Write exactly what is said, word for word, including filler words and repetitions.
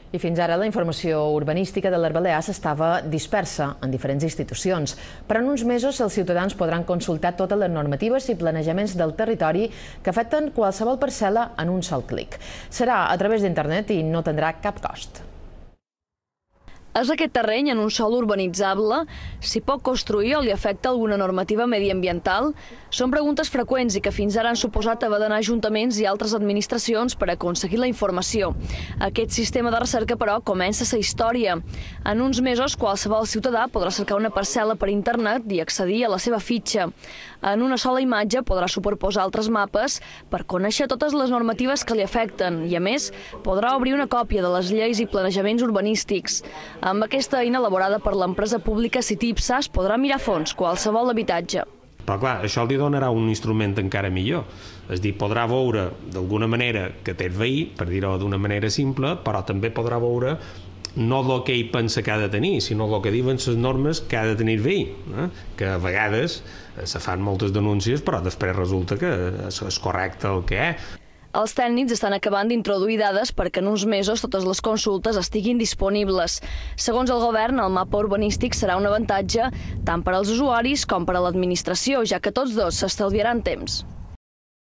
I fins ara la informació urbanística de les Balears estava dispersa en diferents institucions, però en uns mesos els ciutadans podran consultar totes les normatives i planejaments del territori que afecten qualsevol parcel·la en un sol clic. Serà a través d'internet i no tindrà cap cost. És aquest terreny en un sòl urbanitzable? S'hi pot construir o li afecta alguna normativa mediambiental? Són preguntes freqüents i que fins ara han suposat haver d'anar a ajuntaments i altres administracions per aconseguir la informació. Aquest sistema de recerca, però, comença a ser història. En uns mesos, qualsevol ciutadà podrà cercar una parcel·la per internet i accedir a la seva fitxa. En una sola imatge podrà superposar altres mapes per conèixer totes les normatives que li afecten i, a més, podrà obrir una còpia de les lleis i planejaments urbanístics. Amb aquesta eina elaborada per l'empresa pública Citipsa es podrà mirar a fons qualsevol habitatge. Però clar, això li donarà un instrument encara millor. És a dir, podrà veure d'alguna manera que té el veí, per dir-ho d'una manera simple, però també podrà veure no el que ell pensa que ha de tenir, sinó el que diuen les normes que ha de tenir el veí, eh? Que a vegades se fan moltes denúncies, però després resulta que és correcte el que és. Els tècnics estan acabant d'introduir dades perquè en uns mesos totes les consultes estiguin disponibles. Segons el govern, el mapa urbanístic serà un avantatge tant per als usuaris com per a l'administració, ja que tots dos s'estalviaran temps.